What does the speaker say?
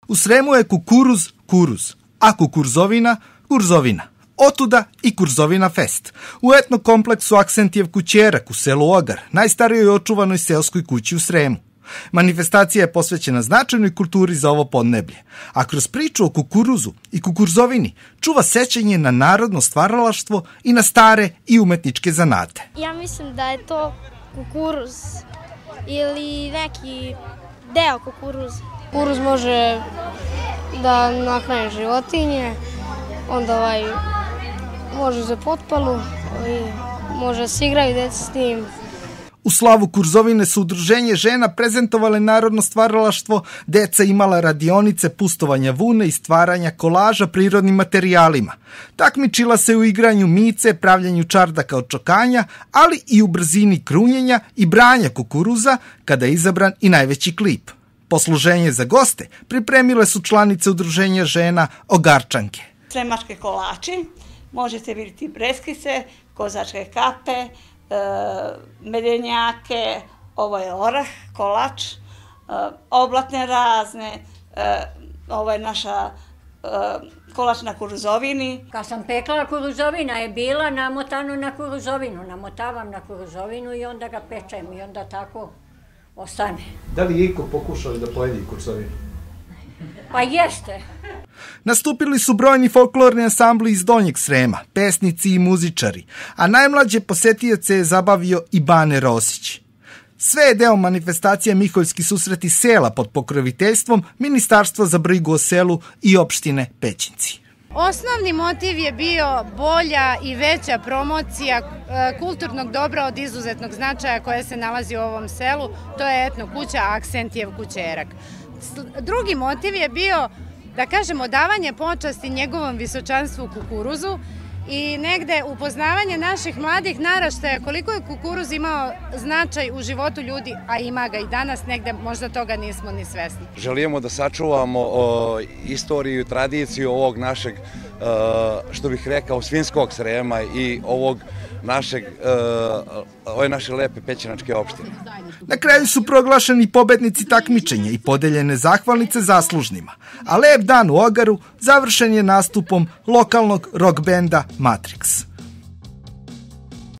U Sremu je kukuruz kuruz, a kukurzovina kurzovina. Otuda i Kurzovina fest. U etno kompleksu Aksentijev kućerak u selu Ogar, najstarijoj očuvanoj seoskoj kući u Sremu. Manifestacija je posvećena značajnoj kulturi za ovo podneblje, a kroz priču o kukuruzu i kukurzovini čuva sećanje na narodno stvaralaštvo i na stare i umetničke zanate. Ja mislim da je to kukuruz ili neki deo kukuruza. Kukuruz može da nahrani životinje, onda može za potpalu i može se igraju deca s tim. U slavu Kurzovine su udruženje žena prezentovale narodno stvaralaštvo, deca imala radionice pustovanja vune i stvaranja kolaža prirodnim materijalima. Takmičila se u igranju mice, pravljanju čardaka od čokanja, ali i u brzini krunjenja i branja kukuruza kada je izabran i najveći klip. Posluženje za goste pripremile su članice udruženja žena Ogarčanke. Sremačke kolači, možete vidjeti breskice, kozačke kape, medenjake, ovo je orah, kolač, oblatne razne, ovo je naša kolač na kurzovini. Kad sam pekla kurzovina je bila namotano na kurzovinu, namotavam na kurzovinu i onda ga pečem i onda tako ostane. Da li je iko pokušao da pojedi kurzovinu? Pa jeste. Nastupili su brojni folklorni ansambli iz Donjeg Srema, pesnici i muzičari, a najmlađe posetioce je zabavio i Bane Rosić. Sve je deo manifestacije Miholjski susreti sela pod pokroviteljstvom Ministarstva za brigu o selu i opštine Pećinci. Osnovni motiv je bio bolja i veća promocija kulturnog dobra od izuzetnog značaja koje se nalazi u ovom selu, to je etno kuća Aksentijev kućerak. Drugi motiv je bio, da kažemo, davanje počasti njegovom visočanstvu kukuruzu i negde upoznavanje naših mladih naraštaja koliko je kukuruz imao značaj u životu ljudi, a ima ga i danas, negde možda toga nismo ni svesni. Želimo da sačuvamo istoriju i tradiciju ovog našeg, što bih rekao, svinjskog Srema i ove naše lepe pećinačke opštine. Na kraju su proglašeni pobednici takmičenja i podeljene zahvalnice zaslužnima, a lep dan u Ogaru završen je nastupom lokalnog rock benda Matrix.